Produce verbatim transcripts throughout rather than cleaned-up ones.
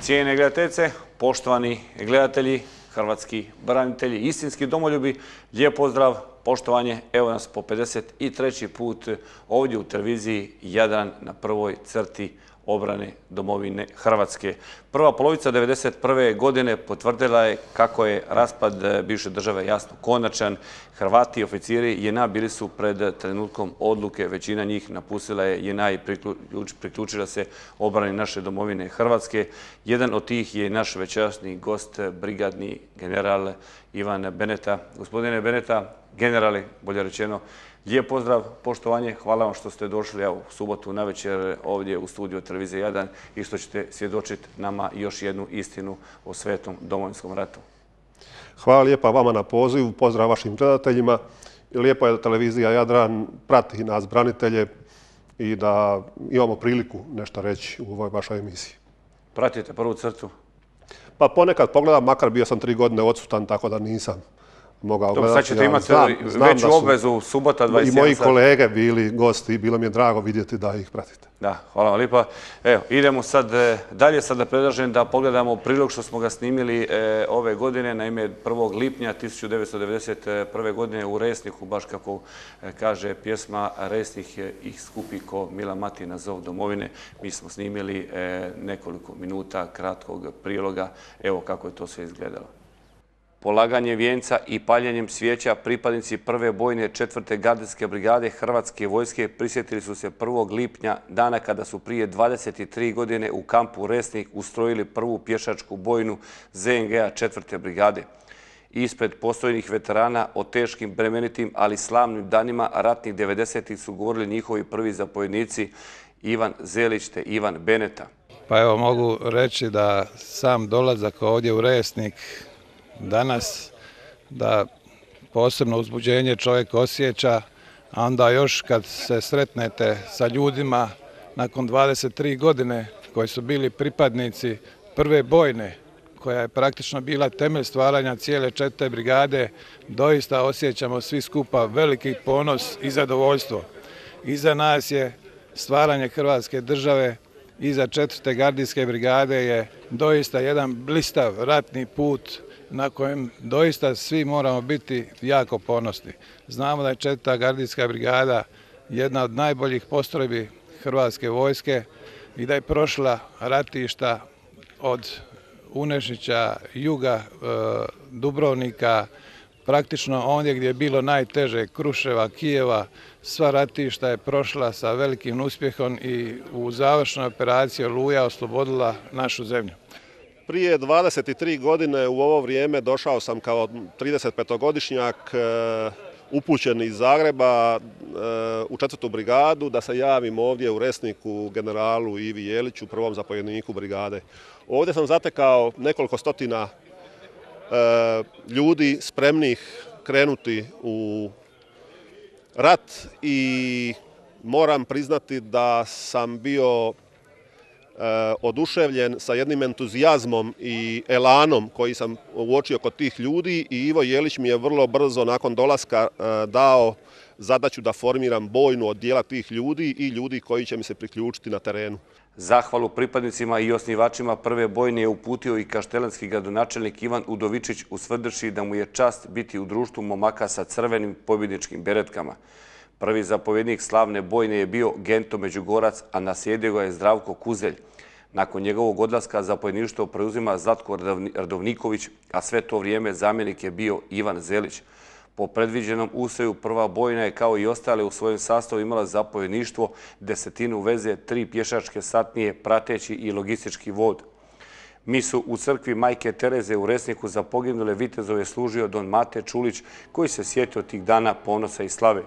Cijenjene gledateljice, poštovani gledatelji, hrvatski branitelji, istinski domoljubi, lijep pozdrav, poštovanje. Evo nas po pedeset treći put ovdje u televiziji Jadran na prvoj crti obrane domovine Hrvatske. Prva polovica devedeset prve godine potvrdila je kako je raspad bivše države jasno konačan. Hrvati i oficiri J N A bili su pred trenutkom odluke, većina njih napustila je J N A i priključila se obrani naše domovine Hrvatske. Jedan od tih je naš večerasni gost, brigadni general Ivan Beneta. Gospodine Beneta, generali, bolje rečeno, lijep pozdrav, poštovanje, hvala vam što ste došli u subotu navečer ovdje u studiju televizije Jadran i što ćete svjedočiti nama još jednu istinu o svetom Domovinskom ratu. Hvala lijepa vama na pozivu, pozdrav vašim gledateljima. Lijepo je da televizija Jadran prati nas branitelje i da imamo priliku nešto reći u ovoj vašoj emisiji. Pratite prvu crtu? Pa ponekad pogledam, makar bio sam tri godine odsutan, tako da nisam mogao gledati. Sad ćete imati veću obvezu, subota dvadeset jedan i moji kolege bili gosti i bilo mi je drago vidjeti da ih pratite. Da, hvala vam lijepa. Evo, idemo sad dalje. Sada predlažem da pogledamo prilog što smo ga snimili ove godine, naime prvog lipnja tisuću devetsto devedeset prve godine u Resniku, baš kako kaže pjesma Resnik ih skupi ko mila mati na zov domovine. Mi smo snimili nekoliko minuta kratkog priloga. Evo kako je to sve izgledalo. Polaganje vijenca i paljenjem svijeća pripadnici prve bojne četvrte gardijske brigade Hrvatske vojske prisjetili su se prvog lipnja, dana kada su prije dvadeset tri godine u kampu Resnik ustrojili prvu pješačku bojnu Z N G-a četvrte brigade. Ispred postojnih veterana o teškim, bremenitim, ali slavnim danima ratnih devedesetih su govorili njihovi prvi zapovjednici Ivan Zelić te Ivan Beneta. Pa evo mogu reći da sam dolazak ovdje u Resnik danas, da posebno uzbuđenje čovjek osjeća, a onda još kad se sretnete sa ljudima nakon dvadeset tri godine koji su bili pripadnici prve bojne, koja je praktično bila temelj stvaranja cijele četvrte brigade, doista osjećamo svi skupa veliki ponos i zadovoljstvo. Iza nas je stvaranje Hrvatske države, iza četvrte gardijske brigade je doista jedan blistav ratni put na kojem doista svi moramo biti jako ponosni. Znamo da je četvrta gardijska brigada jedna od najboljih postrojbi Hrvatske vojske i da je prošla ratišta od Unešića, juga, Dubrovnika, praktično ondje gdje je bilo najteže, Kruševa, Kijeva, sva ratišta je prošla sa velikim uspjehom i u završnoj operaciji Oluja oslobodila našu zemlju. Prije dvadeset tri godine u ovo vrijeme došao sam kao tridesetpetogodišnjak upućen iz Zagreba u četvrtu brigadu da se javim ovdje u Resniku generalu Ivi Jeliću, prvom zapovjedniku brigade. Ovdje sam zatekao nekoliko stotina ljudi spremnih krenuti u rat i moram priznati da sam bio oduševljen sa jednim entuzijazmom i elanom koji sam uočio kod tih ljudi i Ivo Jelić mi je vrlo brzo nakon dolaska dao zadaću da formiram bojnu od dijela tih ljudi i ljudi koji će mi se priključiti na terenu. Zahvalu pripadnicima i osnivačima prve bojne je uputio i kaštelanski gradonačelnik Ivan Udovičić ustvrdivši da mu je čast biti u društvu momaka sa crvenim pobjedničkim beretkama. Prvi zapovjednik slavne bojne je bio Gento Međugorac, a naslijedio ga je Zdravko Kuzelj. Nakon njegovog odlaska zapovjedništvo preuzima Zlatko Radovniković, a sve to vrijeme zamjenik je bio Ivan Zelić. Po predviđenom ustroju prva bojna je kao i ostale u svojem sastavu imala zapovjedništvo, desetinu veze, tri pješačke satnije, prateći i logistički vod. Misu u crkvi Majke Tereze u Resniku za poginule vitezove služio don Mate Čulić, koji se sjetio tih dana ponosa i slave.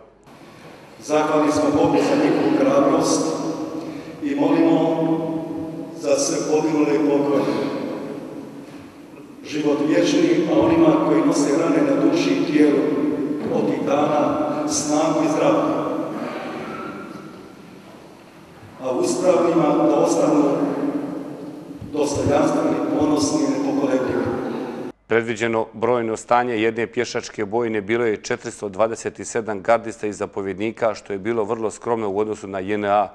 Zahvalni smo Bogu za njihovu hrabrost i molimo za sve poginule i pokojne. Život vječni, a onima koji nose rane na duši i tijelu od tih dana snagu i zdravlje. A uspravnima da ostanu dostojanstveni, ponosni i nepokolebljivi. Predviđeno brojno stanje jedne pješačke bojne bilo je četiristo dvadeset sedam gardista i zapovjednika, što je bilo vrlo skromno u odnosu na J N A.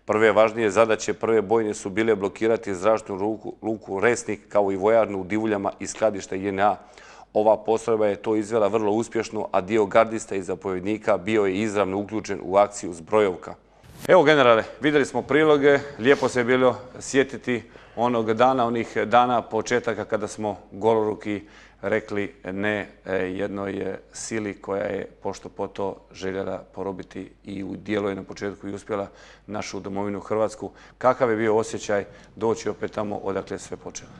Prve važnije zadaće prve bojne su bile blokirati zračnu luku Resnik kao i vojarnu u Divuljama i skladište J N A. Ova postrojba je to izvela vrlo uspješno, a dio gardista i zapovjednika bio je izravno uključen u akciju Zbrojovka. Evo, generale, vidjeli smo priloge, lijepo se je bilo sjetiti onog dana, onih dana početaka kada smo goloruki rekli ne jednoj sili koja je pošto po to željela porobiti i u dijelu je na početku i uspjela našu domovinu Hrvatsku. Kakav je bio osjećaj doći opet tamo odakle sve počelo?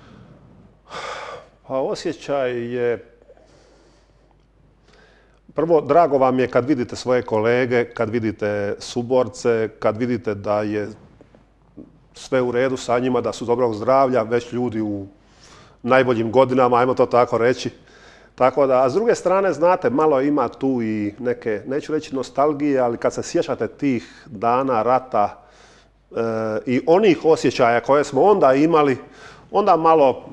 Pa osjećaj je... Prvo, drago vam je kad vidite svoje kolege, kad vidite suborce, kad vidite da je sve u redu sa njima, da su dobrog zdravlja, već ljudi u najboljim godinama, ajmo to tako reći. Tako da, a s druge strane, znate, malo ima tu i neke, neću reći nostalgije, ali kad se sjećate tih dana rata e, i onih osjećaja koje smo onda imali, onda malo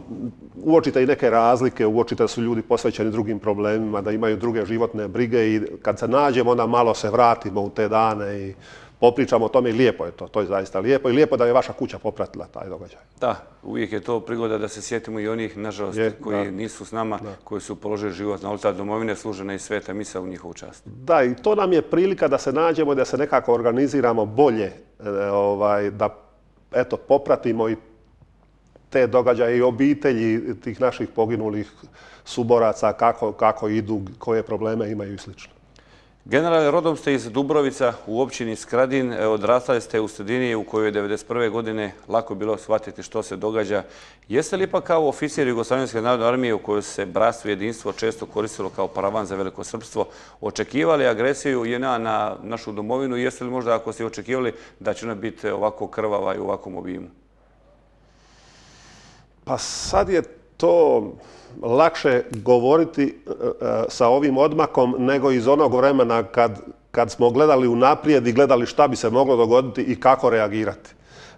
uočite i neke razlike, uočite da su ljudi posvećeni drugim problemima, da imaju druge životne brige i kad se nađemo, onda malo se vratimo u te dane i popričamo o tome i lijepo je to, to je zaista lijepo i lijepo da je vaša kuća popratila taj događaj. Da, uvijek je to prigoda da se sjetimo i onih, nažalost, je, koji da. nisu s nama, da. koji su položili život na oltar domovine, služena i sveta misa u njihovu čast. Da, i to nam je prilika da se nađemo i da se nekako organiziramo bolje, ovaj, da eto, popratimo i te događaje i obitelji tih naših poginulih suboraca, kako, kako idu, koje probleme imaju i slično. Generale, rodom ste iz Dubrovica u općini Skradin. Odrastali ste u sredini u kojoj je devedeset prve godine lako bilo shvatiti što se događa. Jeste li ipak kao oficir Jugoslavenske narodne armije u kojoj se bratstvo i jedinstvo često koristilo kao paravan za velikosrpstvo, očekivali agresiju J N A na našu domovinu? Jeste li možda, ako ste očekivali, da će ona biti ovako krvava i u ovakvom obimu? Pa sad je to lakše govoriti sa ovim odmakom nego iz onog vremena kad, kad smo gledali unaprijed i gledali šta bi se moglo dogoditi i kako reagirati.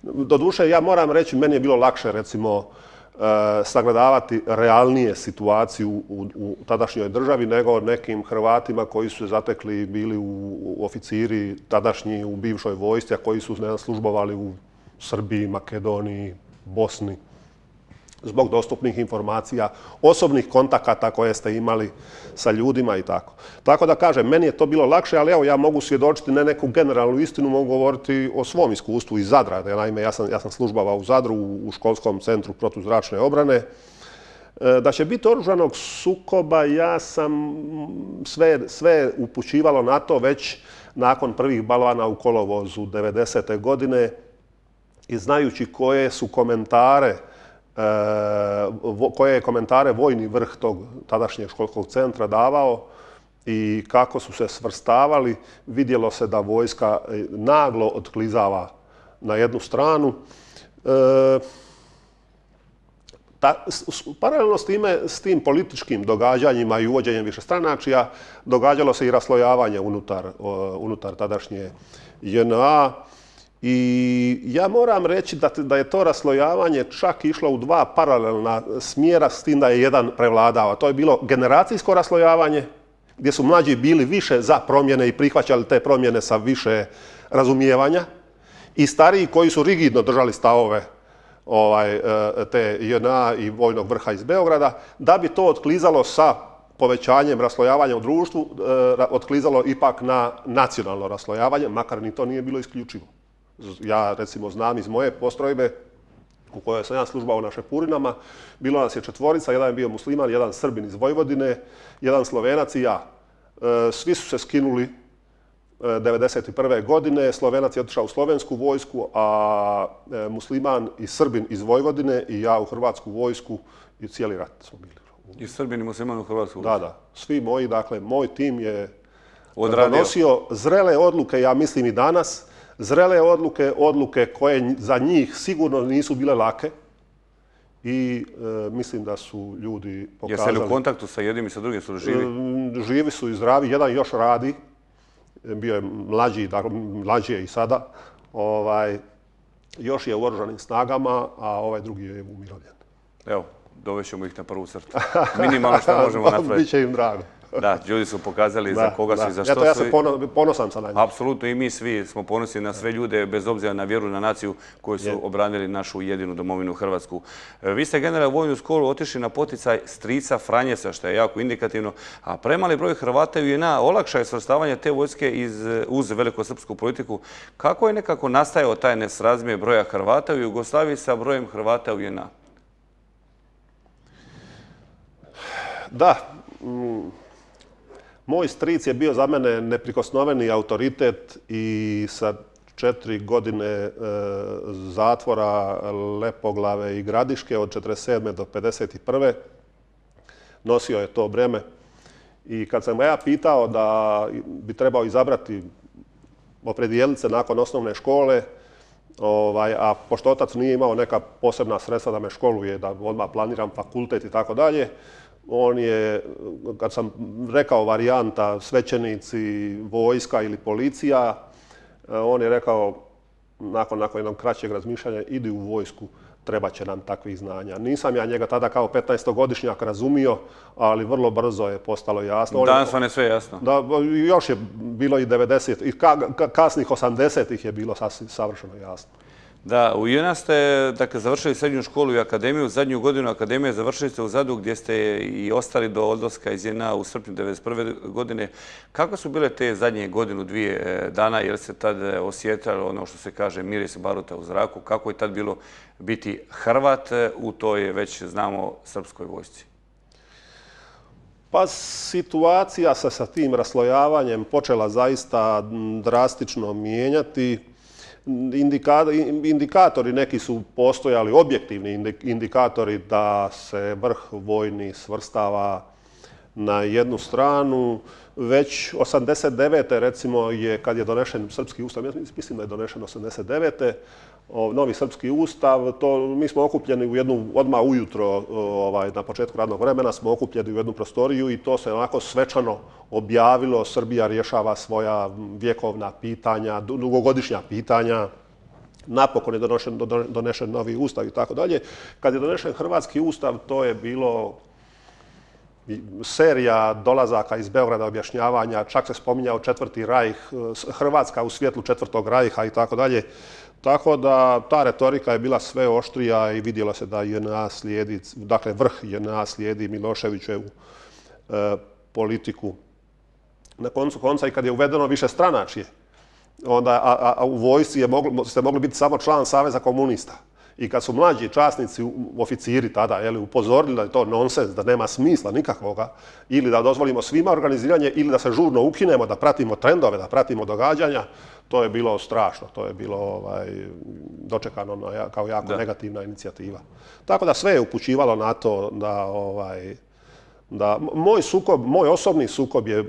Doduše, ja moram reći, meni je bilo lakše, recimo, sagledavati realnije situaciju u, u tadašnjoj državi nego nekim Hrvatima koji su se zatekli i bili u, u oficiri tadašnji u bivšoj vojsci, a koji su ne, službovali u Srbiji, Makedoniji, Bosni, zbog dostupnih informacija, osobnih kontakata koje ste imali sa ljudima i tako. Tako da kažem, meni je to bilo lakše, ali evo ja mogu svjedočiti ne neku generalnu istinu, mogu govoriti o svom iskustvu iz Zadra. Naime, ja sam, ja sam službavao u Zadru u školskom centru protuzračne obrane. Da će biti oružanog sukoba, ja sam sve, sve upućivalo na to već nakon prvih balvana u kolovozu devedesete godine i znajući koje su komentare koje je komentare vojni vrh tog tadašnjeg školskog centra davao i kako su se svrstavali, vidjelo se da vojska naglo otklizava na jednu stranu. E, ta, paralelno s time, s tim političkim događanjima i uvođenjem višestranačja, događalo se i raslojavanje unutar, unutar tadašnje J N A. I ja moram reći da, da je to raslojavanje čak išlo u dva paralelna smjera s tim da je jedan prevladao. To je bilo generacijsko raslojavanje gdje su mlađi bili više za promjene i prihvaćali te promjene sa više razumijevanja i stariji koji su rigidno držali stavove ovaj, te J N A i vojnog vrha iz Beograda, da bi to otklizalo sa povećanjem raslojavanja u društvu, otklizalo ipak na nacionalno raslojavanje, makar ni to nije bilo isključivo. Ja, recimo, znam iz moje postrojbe u kojoj sam ja službao na Šepurinama, bilo nas je četvorica, jedan je bio musliman, jedan Srbin iz Vojvodine, jedan Slovenac i ja. Svi su se skinuli devedeset prve godine, Slovenac je otišao u slovensku vojsku, a musliman i Srbin iz Vojvodine i ja u hrvatsku vojsku i cijeli rat smo bili. I Srbin i musliman u hrvatsku vojsku? Da, da. Svi moji, dakle, moj tim je donosio zrele odluke, ja mislim i danas, zrele odluke, odluke koje za njih sigurno nisu bile lake i e, mislim da su ljudi pokazali... Jeste li u kontaktu sa jednim i sa drugim, su živi? E, živi su i zdravi, jedan još radi, bio je mlađi, dakle, mlađi je i sada, ovaj, još je u oružanim snagama, a ovaj drugi je umirovljen. Evo, dovešćemo ih na prvu crtu. Minimalno što možemo napraviti. Biće im drago. Da, ljudi su pokazali za koga su i za što su. su. Ja se ponosan sam na njih. Apsolutno i mi svi smo ponosni na sve ljude, bez obzira na vjeru, na naciju koji su obranili našu jedinu domovinu Hrvatsku. Vi ste generalno u vojnu školu otišli na poticaj strica Franjesa, što je jako indikativno, a premali broj Hrvata u J N A olakša je svrstavanje te vojske uz velikosrpsku politiku. Kako je nekako nastajao taj nesrazmjer broja Hrvata u Jugoslaviji sa brojem Hrvata u J N A? Da, moj stric je bio za mene neprikosnoveni autoritet i sa četiri godine zatvora Lepoglave i Gradiške od četrdeset sedme do pedeset prve nosio je to breme. I kad sam ga ja pitao da bi trebao izabrati opredijeliti se nakon osnovne škole, a pošto otac nije imao neka posebna sredstva da me školuje, da odmah planiram fakultet i tako dalje, on je, kad sam rekao varijanta svećenici, vojska ili policija, on je rekao, nakon, nakon jednog kraćeg razmišljanja, idi u vojsku, treba će nam takvih znanja. Nisam ja njega tada kao petnaestogodišnjak razumio, ali vrlo brzo je postalo jasno. Danas vam je sve jasno. Da, još je bilo i devedeset, i ka, ka, kasnih osamdesetih je bilo sasvim savršeno jasno. Da, u J N A ste dakle, završili srednju školu i akademiju. Zadnju godinu akademije završili ste u Zadru gdje ste i ostali do odlaska iz J N A u srpnju devedeset prve godine. Kako su bile te zadnje godinu, dvije dana? Jer se tad osjetilo ono što se kaže miris baruta u zraku? Kako je tad bilo biti Hrvat u toj već znamo srpskoj vojsci? Pa situacija se sa tim raslojavanjem počela zaista drastično mijenjati. Indikatori neki su postojali, objektivni indikatori da se vrh vojni svrstava na jednu stranu. Već osamdeset devete recimo je kad je donešen srpski ustav, mislim da je donešen osamdeset devete novi srpski ustav, to mi smo okupljeni u jednu, odmah ujutro ovaj, na početku radnog vremena smo okupljeni u jednu prostoriju i to se onako svečano objavilo. Srbija rješava svoja vjekovna pitanja, dugogodišnja pitanja. Napokon je donešen, donešen novi ustav i tako dalje. Kad je donešen hrvatski ustav, to je bilo serija dolazaka iz Beograda, objašnjavanja, čak se spominjao četvrti rajh, Hrvatska u svjetlu četvrtog rajha i tako dalje. Tako da ta retorika je bila sve oštrija i vidjelo se da J N A slijedi, dakle vrh J N A slijedi Miloševićevu e, politiku. Na koncu konca i kad je uvedeno više stranačje, onda a, a, a u vojsci je moglo, ste mogli biti samo član Saveza komunista. I kad su mlađi časnici, oficiri tada, jeli, upozorili da je to nonsens, da nema smisla nikakvoga, ili da dozvolimo svima organiziranje, ili da se žurno ukinemo, da pratimo trendove, da pratimo događanja, to je bilo strašno, to je bilo ovaj, dočekano kao jako da. negativna inicijativa. Tako da sve je upućivalo na to da, ovaj, da moj sukob, moj osobni sukob je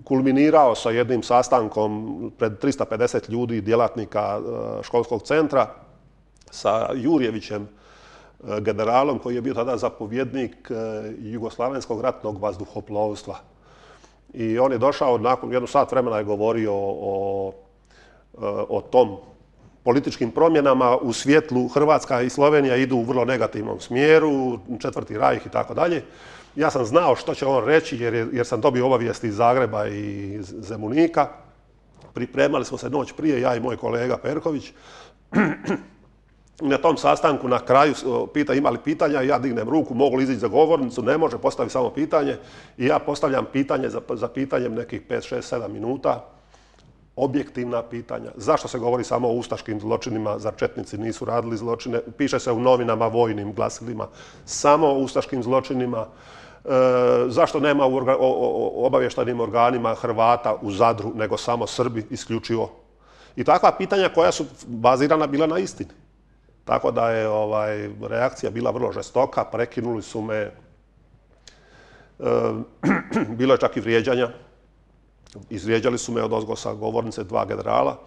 kulminirao sa jednim sastankom pred tristo pedeset ljudi, djelatnika školskog centra, sa Jurjevićem, generalom koji je bio tada zapovjednik Jugoslavenskog ratnog vazduhoplovstva. I on je došao, nakon jednu sat vremena je govorio o, o tom političkim promjenama u svjetlu Hrvatska i Slovenija idu u vrlo negativnom smjeru, četvrti rajh i tako dalje. Ja sam znao što će on reći jer, je, jer sam dobio obavijesti iz Zagreba i iz Zemunika. Pripremali smo se noć prije, ja i moj kolega Perković. Na tom sastanku na kraju pita ima li pitanja, ja dignem ruku, mogu li izići za govornicu, ne može, postavi samo pitanje i ja postavljam pitanje za, za pitanjem nekih pet, šest, sedam minuta, objektivna pitanja. Zašto se govori samo o ustaškim zločinima, zar četnici nisu radili zločine? Piše se u novinama, vojnim glasilima, samo o ustaškim zločinima. E, zašto nema u orga, o, o, obavještajnim organima Hrvata u Zadru, nego samo Srbi isključivo? I takva pitanja koja su bazirana bila na istini. Tako da je ovaj, reakcija bila vrlo žestoka, prekinuli su me, e, bilo je čak i vrijeđanja, izvrijeđali su me od ozgo sa govornice dva generala,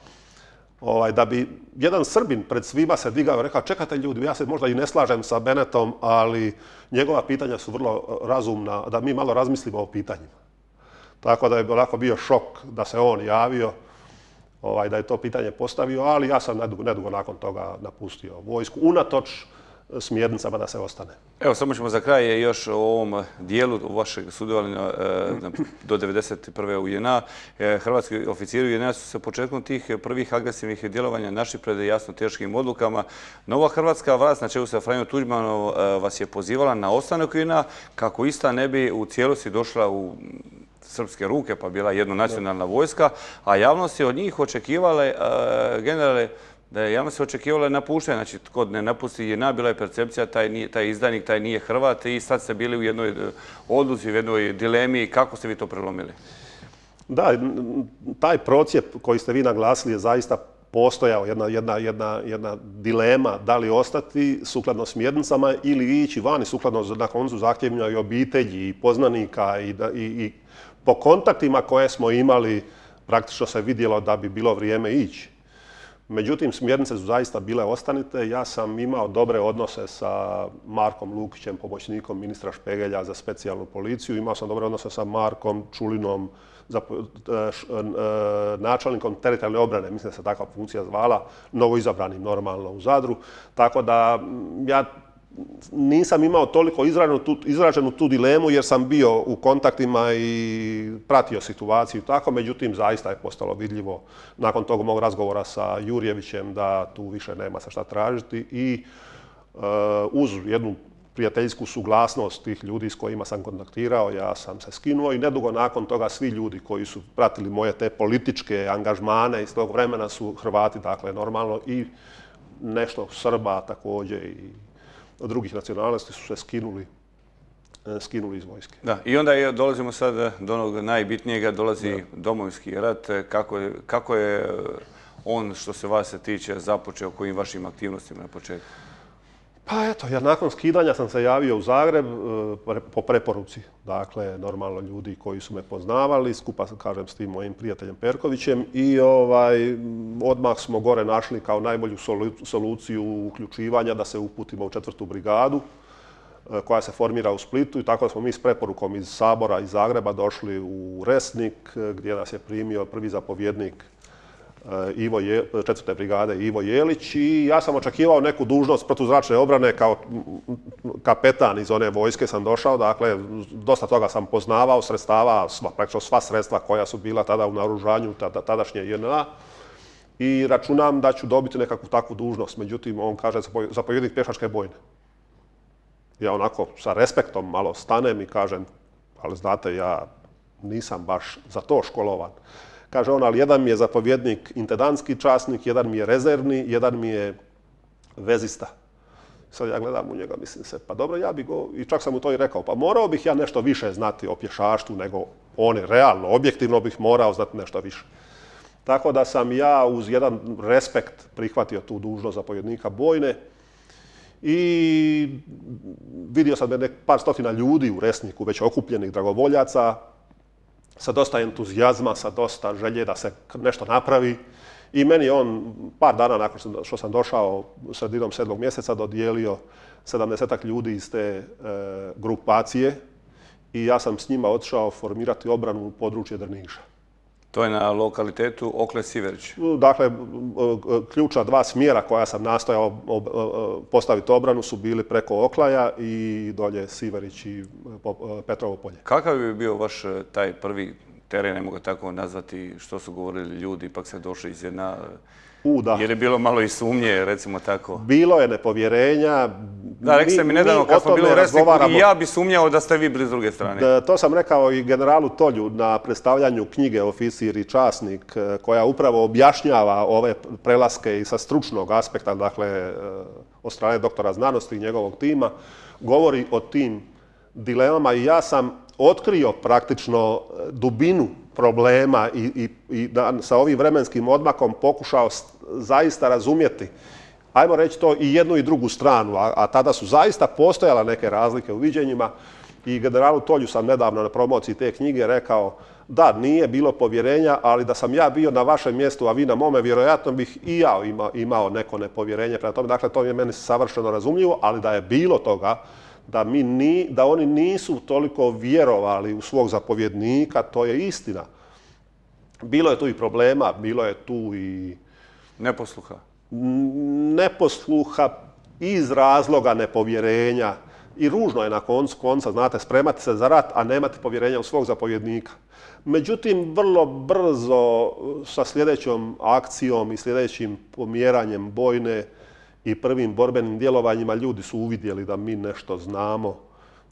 ovaj, da bi jedan Srbin pred svima se digao i rekao, čekajte ljudi, ja se možda i ne slažem sa Benetom, ali njegova pitanja su vrlo razumna, da mi malo razmislimo o pitanjima. Tako da je onako bio šok da se on javio, Ovaj, da je to pitanje postavio, ali ja sam nedugo, nedugo nakon toga napustio vojsku. Unatoč smjernicama da se ostane. Evo, samo ćemo za kraj još o ovom dijelu vašeg sudjelovanja do devedeset prve u J N A. Hrvatski oficiri u J N A su se početkom tih prvih agresivnih djelovanja našli pred jasno teškim odlukama. Nova hrvatska vlast na čelu sa Franjom Tuđmanom vas je pozivala na ostanak u J N A kako ista ne bi u cijelosti došla u srpske ruke, pa bila jednonacionalna vojska, a javnost je od njih očekivala, generale, da je javnost se očekivala napuštanje. Znači, tko ne napusti J N A, bila je percepcija, taj, taj izdajnik, taj nije Hrvat i sad ste bili u jednoj odluci, u jednoj dilemi. Kako ste vi to prelomili? Da, taj procijep koji ste vi naglasili je zaista postojao, jedna, jedna, jedna, jedna dilema da li ostati sukladno smjernicama ili ići vani sukladno na koncu zahtjevima i obitelji i poznanika i, i, i po kontaktima koje smo imali praktično se vidjelo da bi bilo vrijeme ići. Međutim, smjernice su zaista bile ostanite. Ja sam imao dobre odnose sa Markom Lukićem, pomoćnikom ministra Špegelja za specijalnu policiju. Imao sam dobre odnose sa Markom Čulinom, za, načelnikom teritorijalne obrane, mislim da se takva funkcija zvala, novoizabranim normalno u Zadru. Tako da ja nisam imao toliko izraženu tu, izraženu tu dilemu jer sam bio u kontaktima i pratio situaciju tako, međutim zaista je postalo vidljivo nakon tog mog razgovora sa Jurjevićem da tu više nema se šta tražiti i uh, uz jednu prijateljsku suglasnost tih ljudi s kojima sam kontaktirao, ja sam se skinuo i nedugo nakon toga svi ljudi koji su pratili moje te političke angažmane iz tog vremena su Hrvati, dakle normalno i nešto Srba također i drugih nacionalnosti su se skinuli, skinuli iz vojske. Da, i onda je, dolazimo sad do onog najbitnijega, dolazi da. Domovinski rat. Kako je, kako je on, što se vas se tiče, započeo, kojim vašim aktivnostima na početku? Pa eto, ja nakon skidanja sam se javio u Zagreb po preporuci. Dakle, normalno ljudi koji su me poznavali, skupa, kažem, s tim mojim prijateljem Perkovićem i ovaj, odmah smo gore našli kao najbolju soluciju uključivanja da se uputimo u četvrtu brigadu koja se formira u Splitu i tako smo mi s preporukom iz Sabora iz Zagreba došli u Resnik gdje nas je primio prvi zapovjednik Ivo Je, četvrte brigade Ivo Jelić i ja sam očekivao neku dužnost protuzračne obrane kao kapetan iz one vojske sam došao, dakle dosta toga sam poznavao, sredstava, sva, praktično sva sredstva koja su bila tada u naoružanju tada, tadašnje J N A i računam da ću dobiti nekakvu takvu dužnost, međutim on kaže zapovjednik pješačke bojne. Ja onako sa respektom malo stanem i kažem, ali znate ja nisam baš za to školovan. Kaže on, ali jedan mi je zapovjednik intendantski časnik, jedan mi je rezervni, jedan mi je vezista. Sad ja gledam u njega, mislim se, pa dobro, ja bih go, i čak sam mu to i rekao, pa morao bih ja nešto više znati o pješaštvu nego oni, realno, objektivno bih morao znati nešto više. Tako da sam ja uz jedan respekt prihvatio tu dužnost zapovjednika bojne i vidio sam nek par stotina ljudi u Resniku, već okupljenih dragovoljaca, sa dosta entuzijazma, sa dosta želje da se nešto napravi. I meni je on par dana nakon što sam došao sredinom sedmog mjeseca dodijelio sedamdesetak ljudi iz te e, grupacije i ja sam s njima otišao formirati obranu u područje Drniša. To je na lokalitetu Okle-Siverić? Dakle, ključna dva smjera koja sam nastojao postaviti obranu su bili preko Oklaja i dolje Siverić i Petrovo polje. Kakav bi bio vaš taj prvi teren, ne mogu tako nazvati, što su govorili ljudi, ipak ste došli iz jedna... U, da. Je li bilo malo i sumnje, recimo tako? Bilo je nepovjerenja. Da, rekli ste mi nedavno kad smo bili u Resniku i ja bi sumnjao da ste vi bili s druge strane. Da, to sam rekao i generalu Tolju na predstavljanju knjige Oficir i časnik, koja upravo objašnjava ove prelaske i sa stručnog aspekta, dakle, od strane doktora znanosti i njegovog tima, govori o tim dilemama i ja sam otkrio praktično dubinu problema i, i, i da, sa ovim vremenskim odmakom pokušao zaista razumjeti, ajmo reći to, i jednu i drugu stranu, a, a tada su zaista postojala neke razlike u viđenjima i generalu Tolju sam nedavno na promociji te knjige rekao da, nije bilo povjerenja, ali da sam ja bio na vašem mjestu, a vi na mome, vjerojatno bih i ja imao, imao neko nepovjerenje prema tome. Dakle, to je meni savršeno razumljivo, ali da je bilo toga, da, mi ni, da oni nisu toliko vjerovali u svog zapovjednika, to je istina. Bilo je tu i problema, bilo je tu i... Neposluha? Neposluha, iz razloga nepovjerenja. I ružno je na koncu konca, znate, spremati se za rat, a nemati povjerenja u svog zapovjednika. Međutim, vrlo brzo sa sljedećom akcijom i sljedećim pomjeranjem bojne i prvim borbenim djelovanjima ljudi su uvidjeli da mi nešto znamo,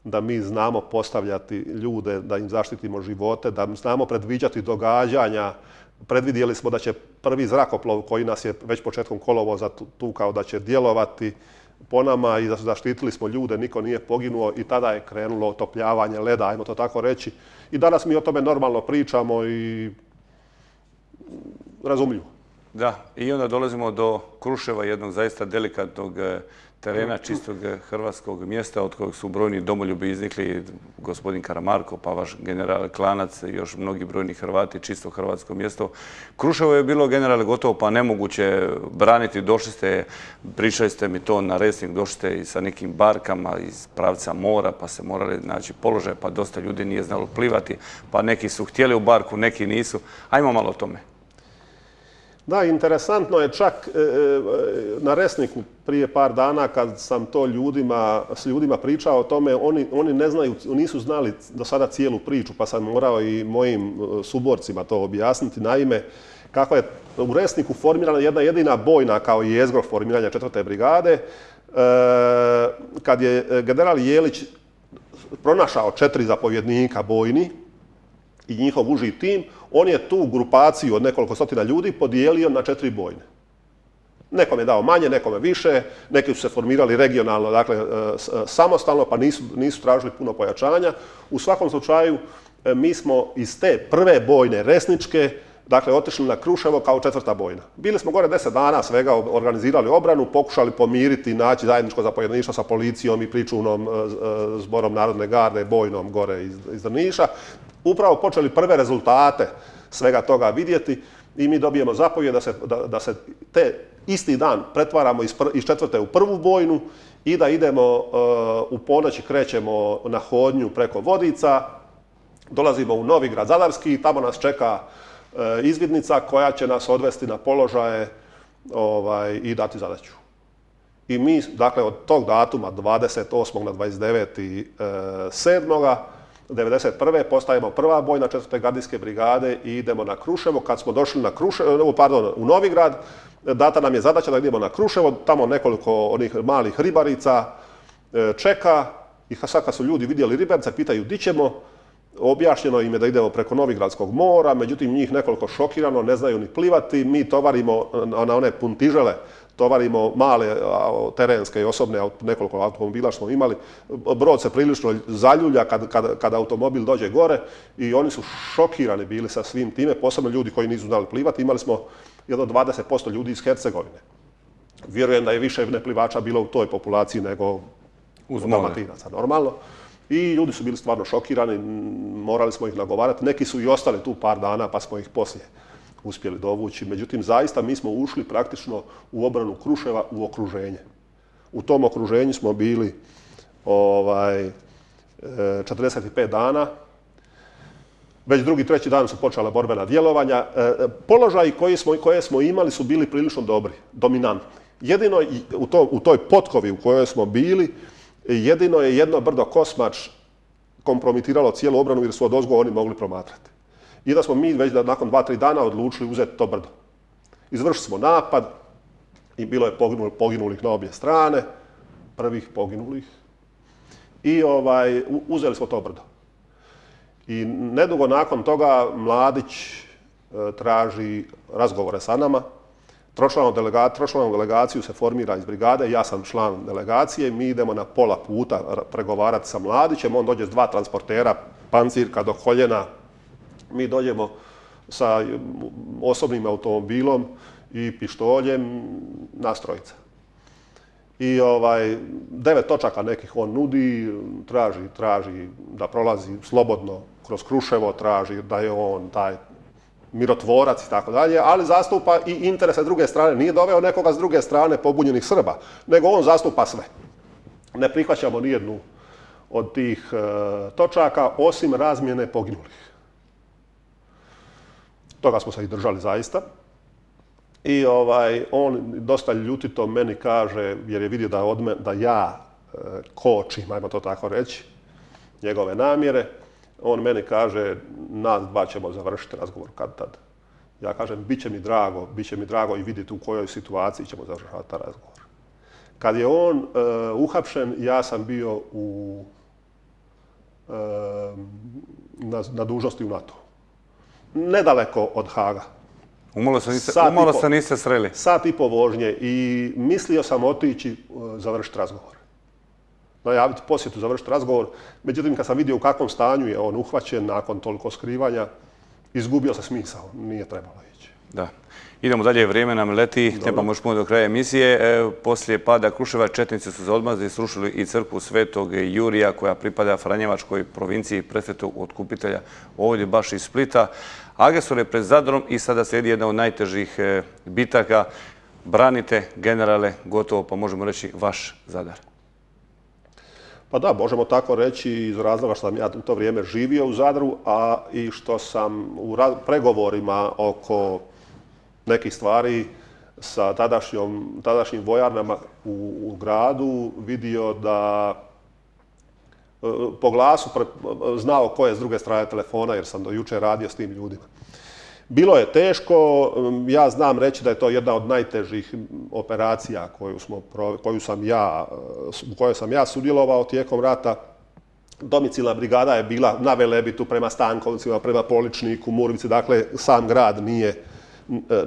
da mi znamo postavljati ljude, da im zaštitimo živote, da znamo predviđati događanja. Predvidjeli smo da će prvi zrakoplov koji nas je već početkom kolovoza tukao da će djelovati po nama i da zaštitili smo ljude, niko nije poginuo i tada je krenulo otopljavanje leda, ajmo to tako reći. I danas mi o tome normalno pričamo i razumljivo. Da, i onda dolazimo do Kruševa, jednog zaista delikatnog terena, čistog hrvatskog mjesta od kojeg su brojni domoljubi iznikli, gospodin Karamarko, pa vaš general Klanac i još mnogi brojni Hrvati, čisto hrvatsko mjesto. Kruševo je bilo, generale, gotovo pa nemoguće braniti. Došli ste, pričali ste mi to na Resnik, došli ste i sa nekim barkama iz pravca mora, pa se morali naći položaj, pa dosta ljudi nije znalo plivati, pa neki su htjeli u barku, neki nisu. Ajmo malo o tome. Da, interesantno je čak na Resniku prije par dana kad sam to ljudima, s ljudima pričao o tome, oni, oni ne znaju, nisu znali do sada cijelu priču, pa sam morao i mojim suborcima to objasniti. Naime, kako je u Resniku formirana jedna jedina bojna kao jezgro formiranja četvrte brigade, kad je general Jelić pronašao četiri zapovjednika bojni i njihov uži tim, on je tu grupaciju od nekoliko stotina ljudi podijelio na četiri bojne. Nekom je dao manje, nekome više, neki su se formirali regionalno, dakle samostalno, pa nisu, nisu tražili puno pojačanja. U svakom slučaju, mi smo iz te prve bojne resničke, dakle, otišli na Kruševo kao četvrta bojna. Bili smo gore deset dana svega, organizirali obranu, pokušali pomiriti, naći zajedničko zapovjedništvo sa policijom i pričuvnom zborom Narodne garde, bojnom gore iz, iz Drniša. Upravo počeli prve rezultate svega toga vidjeti i mi dobijemo zapovjed da se, da, da se te isti dan pretvaramo iz, pr, iz četvrte u prvu bojnu i da idemo uh, u ponoći krećemo na hodnju preko Vodica, dolazimo u Novigrad Zadarski i tamo nas čeka uh, izvidnica koja će nas odvesti na položaje ovaj, i dati zadaću. I mi, dakle, od tog datuma dvadeset osmog na dvadeset deveti sedmoga devedeset prve postajemo prva bojna četvrte gardijske brigade i idemo na Kruševo. Kad smo došli na Kruševo, pardon, u Novigrad, data nam je zadaća da idemo na Kruševo, tamo nekoliko onih malih ribarica čeka i sad kad su ljudi vidjeli ribarice, pitaju di ćemo, objašnjeno im je da idemo preko Novigradskog mora, međutim njih nekoliko šokirano, ne znaju ni plivati, mi tovarimo na one puntižele, tovarimo male terenske i osobne, nekoliko automobila smo imali, brod se prilično zaljulja kad, kad, kad automobil dođe gore i oni su šokirani bili sa svim time, posebno ljudi koji nisu znali plivati, imali smo jedno dvadeset posto ljudi iz Hercegovine. Vjerujem da je više neplivača bilo u toj populaciji nego uz Dalmatinaca, normalno. I ljudi su bili stvarno šokirani, morali smo ih nagovarati, neki su i ostali tu par dana pa smo ih poslije uspjeli dovući. Međutim, zaista mi smo ušli praktično u obranu Kruševa u okruženje. U tom okruženju smo bili ovaj, četrdeset pet dana. Već drugi, treći dan su počela borbena djelovanja. Položaji koje smo, koje smo imali su bili prilično dobri, dominantni. Jedino u, to, u toj potkovi u kojoj smo bili, jedino je jedno brdo Kosmač kompromitiralo cijelu obranu jer su odozgo oni mogli promatrati. I da smo mi već da nakon dva, tri dana odlučili uzeti to brdo. Izvršili smo napad i bilo je poginulih, poginulih na obje strane, prvih poginulih. I ovaj, uzeli smo to brdo. I nedugo nakon toga Mladić e, traži razgovore sa nama. Tročlanom delega, delegaciju se formira iz brigade, ja sam član delegacije, mi idemo na pola puta pregovarati sa Mladićem, on dođe s dva transportera, pancirka do koljena, mi dođemo sa osobnim automobilom i pištoljem, nas trojica. I ovaj, devet točaka nekih on nudi, traži, traži da prolazi slobodno kroz Kruševo, traži da je on taj mirotvorac i tako dalje, ali zastupa i interese druge strane. Nije doveo nekoga s druge strane pobunjenih Srba, nego on zastupa sve. Ne prihvaćamo nijednu od tih e, točaka, osim razmjene poginulih. Toga smo se i držali zaista. I ovaj, on dosta ljutito meni kaže, jer je vidio da, od me, da ja e, kočim, ajmo to tako reći, njegove namjere. On meni kaže, nas dva ćemo završiti razgovor kad tad. Ja kažem, bit će mi drago, bit će mi drago i vidjeti u kojoj situaciji ćemo završavati taj razgovor. Kad je on e, uhapšen, ja sam bio u, e, na, na dužnosti u NATO. Nedaleko od Haga. Umalo se niste, umalo se niste sreli. Sat i po vožnje i mislio sam otići uh, završiti razgovor. Najaviti posjetu, završiti razgovor. Međutim, kad sam vidio u kakvom stanju je on uhvaćen nakon toliko skrivanja, izgubio se smisao. Nije trebalo ići. Da. Idemo dalje, vrijeme nam leti, trebamo još puno do kraja emisije. E, poslije pada Kruševa, četnici su se odmazili i srušili i crkvu Svetog Jurija, koja pripada Franjevačkoj provinciji, presvetog otkupitelja, ovdje baš iz Splita. Agresor je pred Zadrom i sada slijedi jedna od najtežih e, bitaka. Branite, generale, gotovo, pa možemo reći, vaš Zadar. Pa da, možemo tako reći iz razloga što sam ja u to vrijeme živio u Zadru, a i što sam u pregovorima oko nekih stvari sa tadašnjom, tadašnjim vojarnama u, u gradu vidio da e, po glasu pre, znao ko je s druge strane telefona jer sam do jučer radio s tim ljudima. Bilo je teško, ja znam reći da je to jedna od najtežih operacija koju, smo, koju sam ja, u kojoj sam ja sudjelovao tijekom rata. Domicilna brigada je bila na Velebitu prema Stankovcima, prema Poličniku, Murvici, dakle sam grad nije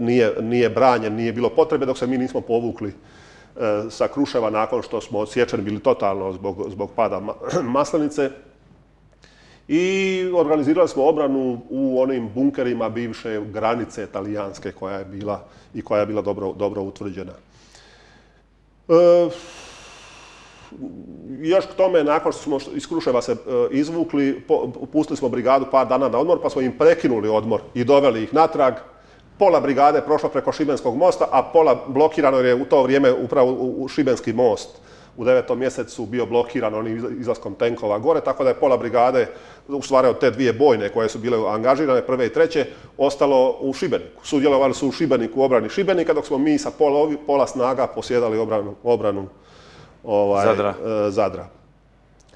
Nije, nije branjen, nije bilo potrebe dok se mi nismo povukli e, sa Kruševa nakon što smo odsječeni bili totalno zbog, zbog pada Maslenice. I organizirali smo obranu u onim bunkerima bivše granice talijanske koja je bila i koja je bila dobro, dobro utvrđena. E, još k tome, nakon što smo iz Kruševa se e, izvukli, po, pustili smo brigadu par dana na odmor, pa smo im prekinuli odmor i doveli ih natrag. Pola brigade je prošlo preko Šibenskog mosta, a pola blokirano jer je u to vrijeme upravo u Šibenski most u devetom mjesecu bio blokiran onim izlaskom tenkova gore, tako da je pola brigade, u stvari od te dvije bojne koje su bile angažirane, prve i treće, ostalo u Šibeniku. Sudjelovali su u Šibeniku u obrani Šibenika, dok smo mi sa pola, pola snaga posjedali obranu, obranu ovaj, Zadra. E, Zadra.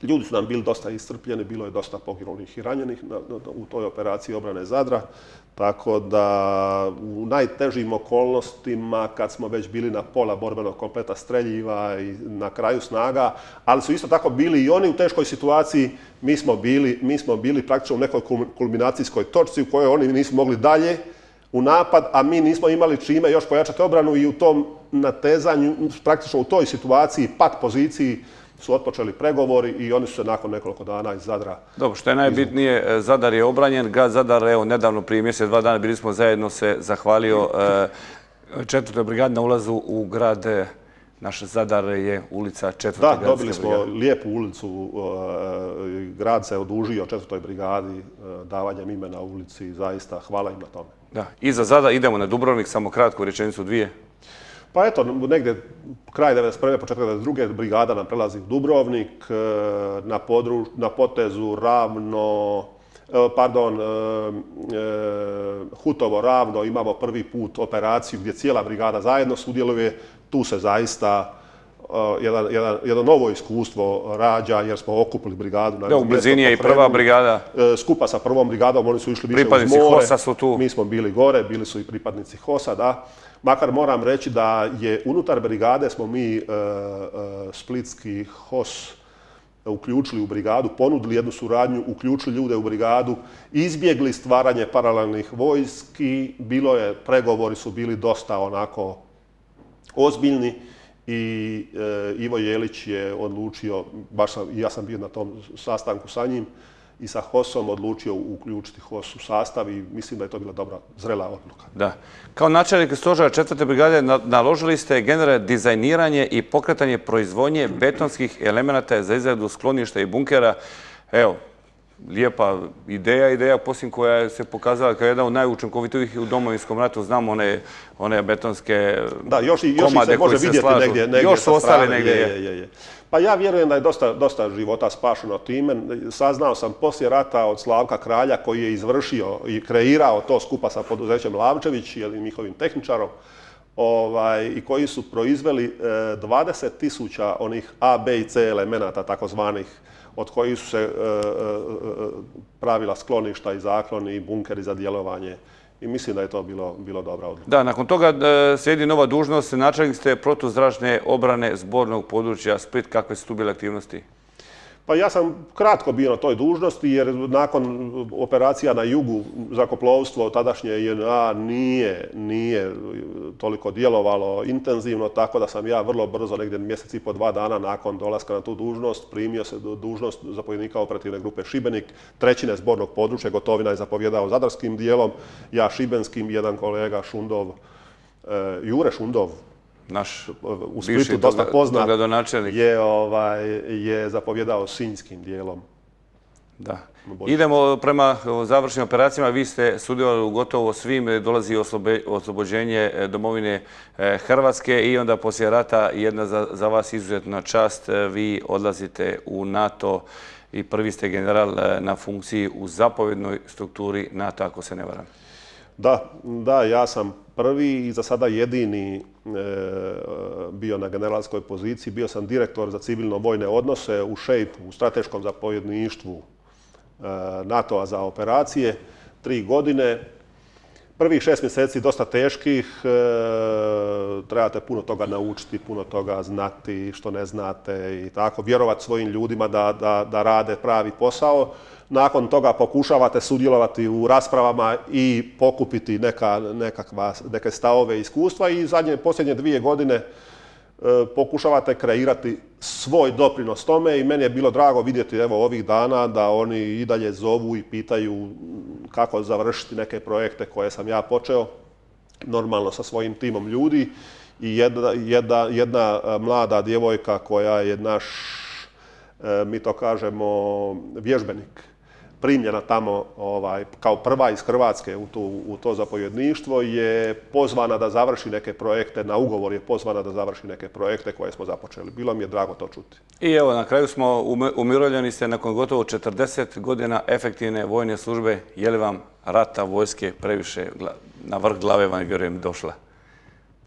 Ljudi su nam bili dosta iscrpljeni, bilo je dosta poginulih i ranjenih na, na, u toj operaciji obrane Zadra. Tako da u najtežim okolnostima, kad smo već bili na pola borbenog kompleta streljiva i na kraju snaga, ali su isto tako bili i oni u teškoj situaciji, mi smo bili, mi smo bili praktično u nekoj kulminacijskoj točci u kojoj oni nisu mogli dalje u napad, a mi nismo imali čime još pojačati obranu i u tom natezanju, praktično u toj situaciji, pat poziciji, su otpočeli pregovori i oni su se nakon nekoliko dana iz Zadra... Dobro, što je najbitnije, Zadar je obranjen. Grad Zadar, evo, nedavno prije mjesec, dva dana bili smo zajedno, se zahvalio četvrtoj brigadi na ulazu u grad. Naš Zadar je ulica četvrte gradske brigade. Da, dobili smo lijepu ulicu. Grad se odužio četvrtoj brigadi davanjem imena ulici. Zaista, hvala im na tome. Da, i za Zadar idemo na Dubrovnik, samo kratko, rečenicu dvije. Pa eto, negdje kraj devedeset prve, početak devedeset druge brigada nam prelazi u Dubrovnik, na, podru, na potezu Ravno, pardon, Hutovo Ravno imamo prvi put operaciju gdje cijela brigada zajedno sudjeluje. Tu se zaista jedan, jedan, jedno novo iskustvo rađa jer smo okupili brigadu. Na da, u blizini je i prva brigada. Skupa sa prvom brigadom, oni su išli više uz more. Pripadnici Hosa su tu. Mi smo bili gore, bili su i pripadnici Hosa, da. Makar moram reći da je unutar brigade smo mi e, e, splitski H O S uključili u brigadu, ponudili jednu suradnju, uključili ljude u brigadu, izbjegli stvaranje paralelnih vojski, bilo je, pregovori su bili dosta onako ozbiljni i e, Ivo Jelić je odlučio, baš sam, ja sam bio na tom sastanku sa njim, i sa H O S-om odlučio uključiti H O S u sastav i mislim da je to bila dobra, zrela odluka. Da. Kao načelnik stožera četvrte brigade naložili ste generalno dizajniranje i pokretanje proizvodnje betonskih elemenata za izradu skloništa i bunkera. Evo, lijepa ideja, ideja posljednja koja se pokazala kao jedna od najučinkovitijih u Domovinskom ratu. Znamo one, one betonske da, još i, još komade se može koji se vidjeti slažu. Negdje, negdje još su ostali negdje. Je, je, je. Pa ja vjerujem da je dosta, dosta života spašeno time. Saznao sam poslije rata od Slavka Kralja koji je izvršio i kreirao to skupa sa poduzećem Lavčević, jednim njihovim tehničarom, ovaj, i koji su proizveli dvadeset tisuća onih A, B i C elemenata takozvanih, od kojih su se e, e, pravila skloništa i zakloni i bunkeri za djelovanje. I mislim da je to bilo, bilo dobra odluka. Da, nakon toga e, slijedi nova dužnost. Načelnik ste protuzračne obrane zbornog područja Split. Kakve su tu bile aktivnosti? Pa ja sam kratko bio na toj dužnosti jer nakon operacija na jugu zrakoplovstvo tadašnje J N A nije, nije toliko djelovalo intenzivno, tako da sam ja vrlo brzo, negdje mjesec i po dva dana nakon dolaska na tu dužnost, primio se dužnost zapovjednika operativne grupe Šibenik, trećine zbornog područja. Gotovina je zapovjedao zadarskim dijelom, ja šibenskim, jedan kolega Šundov, Jure Šundov, naš u Splitu dosta poznat, gradonačelnik je, ovaj, je zapovjedao sinjskim dijelom. Da. Idemo prema završnim operacijama. Vi ste sudjelovali u gotovo svim, dolazi oslobođenje domovine Hrvatske i onda poslije rata jedna za, za vas izuzetna čast. Vi odlazite u NATO i prvi ste general na funkciji u zapovjednoj strukturi NATO, ako se ne varam. Da, da, ja sam prvi i za sada jedini e, bio na generalskoj poziciji. Bio sam direktor za civilno-vojne odnose u šejpu, u strateškom zapovjedništvu e, NATO-a za operacije, tri godine. Prvih šest mjeseci dosta teških, e, trebate puno toga naučiti, puno toga znati što ne znate i tako, vjerovati svojim ljudima da, da, da rade pravi posao. Nakon toga pokušavate sudjelovati u raspravama i pokupiti neka, nekakva, neke stavove i iskustva i zadnje, posljednje dvije godine e, pokušavate kreirati svoj doprinos tome i meni je bilo drago vidjeti evo ovih dana da oni i dalje zovu i pitaju kako završiti neke projekte koje sam ja počeo, normalno sa svojim timom ljudi i jedna, jedna, jedna mlada djevojka koja je naš, e, mi to kažemo, vježbenik, primljena tamo ovaj, kao prva iz Hrvatske u, tu, u to zapovjedništvo, je pozvana da završi neke projekte, na ugovor je pozvana da završi neke projekte koje smo započeli. Bilo mi je drago to čuti. I evo, na kraju smo umirovljeni ste nakon gotovo četrdeset godina efektivne vojne službe. Je li vam rata vojske previše na vrh glave, vam vjerujem, došla?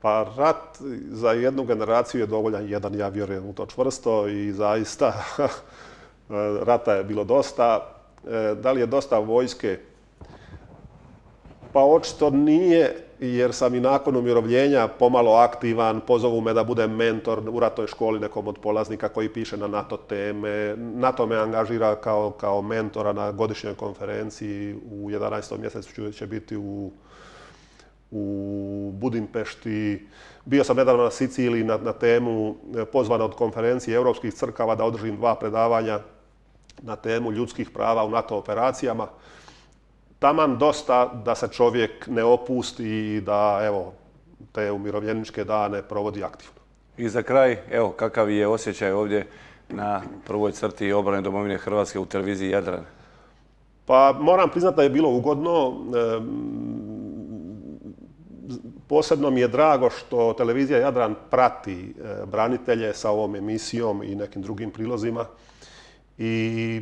Pa rat za jednu generaciju je dovoljan jedan, ja vjerujem u to čvrsto i zaista rata je bilo dosta. Da li je dosta vojske? Pa očito nije, jer sam i nakon umirovljenja pomalo aktivan, pozovu me da budem mentor u ratnoj školi nekom od polaznika koji piše na NATO teme. NATO me angažira kao, kao mentora na godišnjoj konferenciji, u jedanaestom mjesecu će biti u, u Budimpešti. Bio sam nedavno na Siciliji na, na temu pozvana od konferencije europskih crkava da održim dva predavanja na temu ljudskih prava u NATO operacijama. Taman dosta da se čovjek ne opusti i da, evo, te umirovljeničke dane provodi aktivno. I za kraj, evo, kakav je osjećaj ovdje na prvoj crti obrane domovine Hrvatske u televiziji Jadran? Pa moram priznati da je bilo ugodno. E, posebno mi je drago što televizija Jadran prati e, branitelje sa ovom emisijom i nekim drugim prilozima. I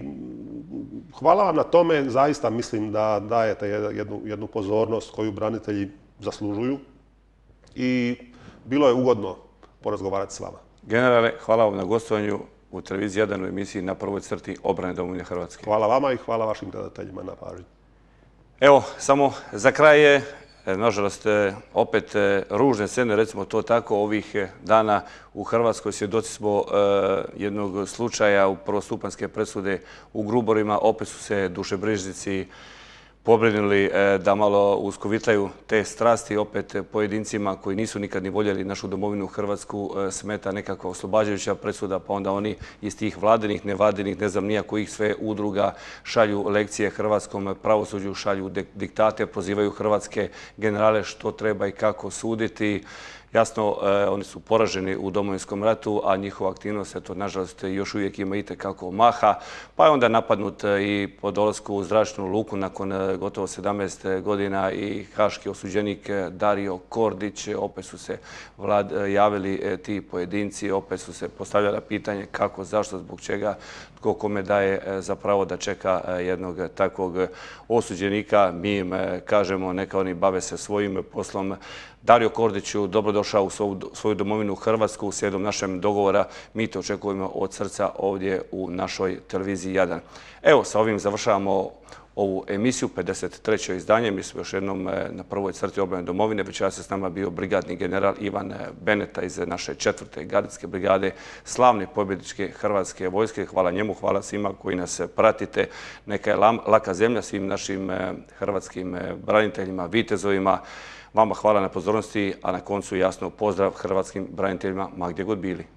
hvala vam na tome, zaista mislim da dajete jednu, jednu pozornost koju branitelji zaslužuju i bilo je ugodno porazgovarati s vama. Generale, hvala vam na gostovanju u televiziji Jadran u emisiji Na prvoj crti obrane domovine Hrvatske. Hvala vama i hvala vašim gledateljima na pažnji. Evo, samo za kraj je, nažalost, opet ružne scene, recimo to tako, ovih dana u Hrvatskoj svjedoci smo jednog slučaja u prvostupanjske presude u Gruborima. Opet su se dušebrižnici pobrinuli da malo uskovitlaju te strasti. Opet pojedincima koji nisu nikad ni voljeli našu domovinu Hrvatsku smeta nekakva oslobađajuća presuda, pa onda oni iz tih vladinih, nevladinih, ne znam nija kojih sve udruga šalju lekcije hrvatskom pravosuđu, šalju diktate, prozivaju hrvatske generale što treba i kako suditi. Jasno, oni su poraženi u Domovinskom ratu, a njihova aktivnost, eto, nažalost, još uvijek ima itekako maha. Pa je onda napadnut i po dolasku u zračnu luku nakon gotovo sedamnaest godina i haški osuđenik Dario Kordić. Opet su se vlad, javili ti pojedinci, opet su se postavljala pitanje kako, zašto, zbog čega, tko kome daje za pravo da čeka jednog takvog osuđenika. Mi im kažemo, neka oni bave se svojim poslom. Dario Kordiću, dobro došao u svoju domovinu Hrvatsku slijedom našem dogovora. Mi to očekujemo od srca ovdje u našoj televiziji Jadran. Evo, sa ovim završavamo ovu emisiju, pedeset treće izdanje. Mi smo još jednom na prvoj crti obrane domovine. Večeras je s nama bio brigadni general Ivan Beneta iz naše četvrte gardijske brigade slavne pobjedničke Hrvatske vojske. Hvala njemu, hvala svima koji nas pratite. Neka je laka zemlja svim našim hrvatskim braniteljima, vitezovima. Vama hvala na pozornosti, a na koncu jasno pozdrav hrvatskim braniteljima ma gdje god bili.